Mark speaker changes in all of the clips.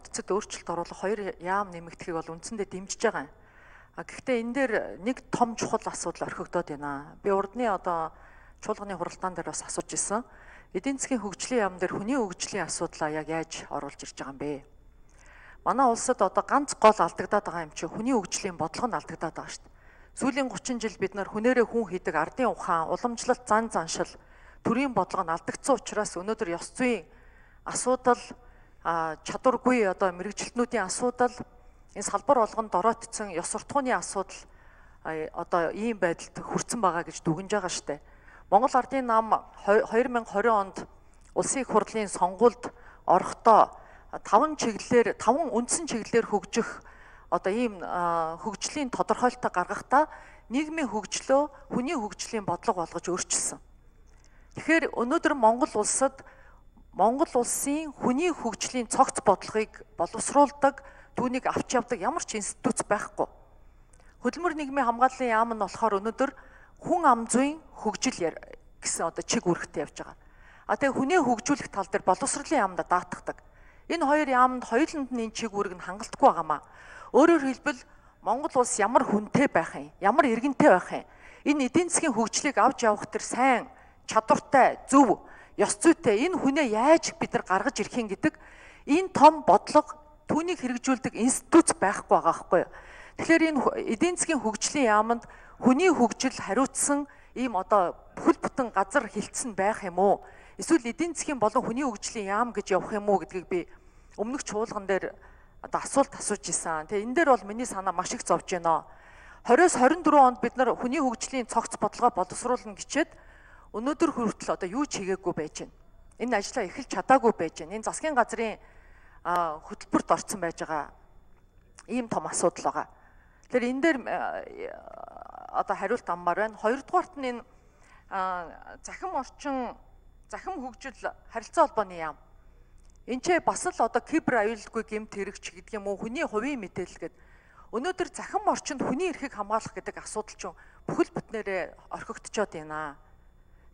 Speaker 1: бодцод өөрчлөлт оруулах хоёр яам нэмэгдэхийг бол үндсэндээ дэмжиж байгаа юм. Гэхдээ энэ дээр нэг том чухал асуудал орхигдоод байна. Би урдны чуулганы хуралдаан дээр бас асууж ирсэн. Эдийн засгийн хөгжлийн яам дээр хүний хөгжлийн асуудлаа яг яаж оруулж ирж байгаа юм бэ? Манай улсад ганц гол алдагдаад байгаа юм чи хүний хөгжлийн бодлого нь алдагдаад байгаа шүү дээ. Сүүлийн 30 жил бид нар хүнээрээ хүн хийдэг ардын ухаан, уламжлалт, зан заншил, төрийн бодлого нь алдагдсан учраас өнөөдөр ёс зүйн асуудал, чадваргүй мэрэгчлэтнүүдийн асуудал, энэ салбар болгонд оройтсон ёс суртахууны асуудал ийм байдалд хүрсэн байгаа гэж дүгнэж байгаа шүү дээ. Монгол Ардын нам 2020 онд улсын их хурлын сонгуульд орохдоо 5 үндсэн чиглэлээр хөгжих ийм хөгжлийн тодорхойлолтоо гаргахдаа нийгмийн хөгжлөө хүний хөгжлийн бодлого болгож өөрчилсөн. Тэгэхээр өнөөдөр Монгол улсын хүний хөгжлийн цогц бодлогыг боловсруулдаг, түүнийг авч явдаг ямар ч институт байхгүй. Хөдөлмөр нийгмийн хамгааллын яам нь болохоор өнөөдөр хүн ам зүйн хөгжил гэсэн чиг үүрэгтэй явж байгаа. Тэгээ хүнээ хөгжүүлэх тал дээр боловсролын яамд даатгадаг. Энэ хоёр яамд хоёуланд нь энэ чиг үүрэг нь хангалтгүй байгаамаа. Өөрөөр хэлбэл Монгол улс ямар хүнтэй байх юм, ямар иргэнтэй байх юм. Энэ эдийн засгийн хөгжлийг авч явах төр сайн, чадвартай, зөв, ёс зүйтэй энэ хүнээ яаж бид нар гаргаж ирэх юм гэдэг энэ том бодлого түүнийг хэрэгжүүлдэг институт байхгүй байгаа байхгүй юу. Тэгэхээр энэ эдийн засгийн хөгжлийн яамд хүний хөгжил хариуцсан ийм бүхэл бүтэн газар хилцэн байх юм уу? Эсвэл эдийн засгийн болон хүний хөгжлийн яам гэж явах юм уу гэдгийг би өмнөх чуулган дээр асуулт асууж исэн. Тэгээ энэ дээр бол миний санаа маш их зовж байна. 20-24 онд бид нар хүний хөгжлийн цогц бодлогоо боловсруулна гэчээд өнөөдөр хүртэл юу ч хийгээгүй байж байна. Энэ ажлаа эхэлж чадаагүй байж байна. Энэ засгийн газрын хөтөлбөрт орсон байж байгаа ийм том асуудал байгаа. Тэгэхээр энэ дээр хариулт аммаар байна. Хоёрдугаарт нь энэ захим хөгжил харилцаа холбооны яам. Энд ч бас л кибер аюулгүй гэмт хэрэгч гэдэг юм уу, хүний хувийн мэдээлэл гэдэг. Өнөөдөр захим орчинд хүний эрхийг хамгаалах гэдэг асуудал чинь бүхэл бүтнээрээ орхигдчиход байна.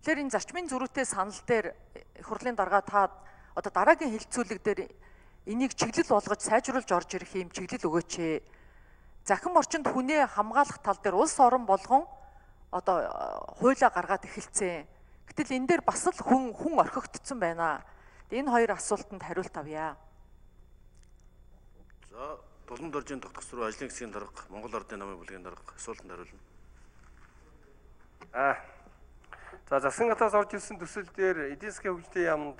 Speaker 1: Тэгэхээр энэ зарчмын зөрүүтэй санал дээр их хурлын дарга та дараагийн хилцүүлэг дээр энийг чиглэл болгож сайжруулж орж ирэх юм чиглэл өгөөч. Захим орчинд хүнээ хамгаалах тал дээр улс орон болгон хуулиа гаргаад эхэлсэн. Гэтэл энэ дээр бас л хүн орхигдсон байна. Энэ хоёр асуултанд хариулт авъя.
Speaker 2: За, Тулан доржийн тогтгосруу ажлын хэсгийн дарга, Монгол Ардын намын бүлгийн дарга асуултанд хариулна.
Speaker 3: За, засгийн газраас орж ирсэн төсөл дээр эдийн засгийн хөгжлийн яамд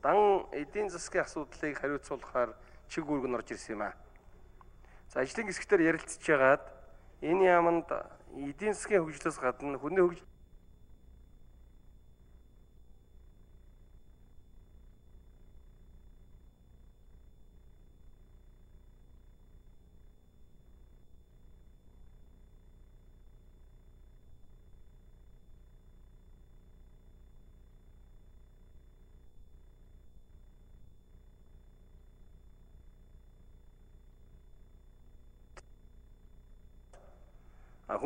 Speaker 3: дан эдийн засгийн асуудлыг хариуцуулахаар чиг үүрэг нь орж ирсэн юм аа. За, ажлын хэсгээр ярилцж байгаад энэ яамд эдийн засгийн хөгжлөөс гадна хүний хөгжил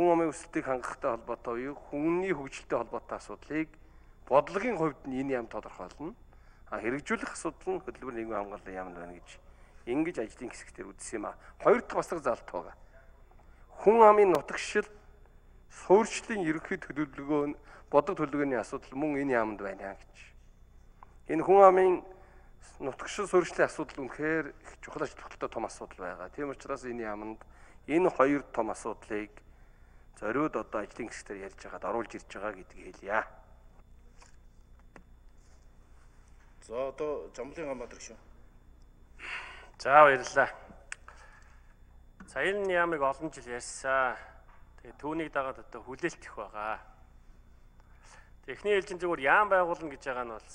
Speaker 3: хүн амын өсөлтийг хангахтай холбоотой буюу хүний хөгжилтэй холбоотой асуудлыг бодлогын хувьд нь энэ яам тодорхойлно. Хэрэгжүүлэх асуудал нь хөдөлмөр нийгмийн хамгааллын яамд байна гэж ингэж ажлын хэсгээр үзсэн юм аа. Хоёр дахь бас нэг залт байгаа. Хүн амын нутагшил суурьшлийн ерөнхий төлөвлөгөө бодлого төлөвлөгөөний асуудал мөн энэ яамд байна гэж. Энэ хүн амын нутагшил суурьшлийн асуудал үнэхээр их чухал ач холбогдолтой том асуудал байгаа. Тийм учраас энэ яамд энэ хоёр том асуудлыг зориуд ажлын хэсгээр ярьж байгаад оруулж ирж байгаа гэдгийг хэлье.
Speaker 2: За, Жамблын гамбат шүү.
Speaker 4: За, баярлалаа. Энэ яамыг олон жил ярьсан. Тэгээ түүнийг дагаад хүлээлт их байгаа. Эхний ээлжин зүгээр яам байгуулна гэж байгаа нь бол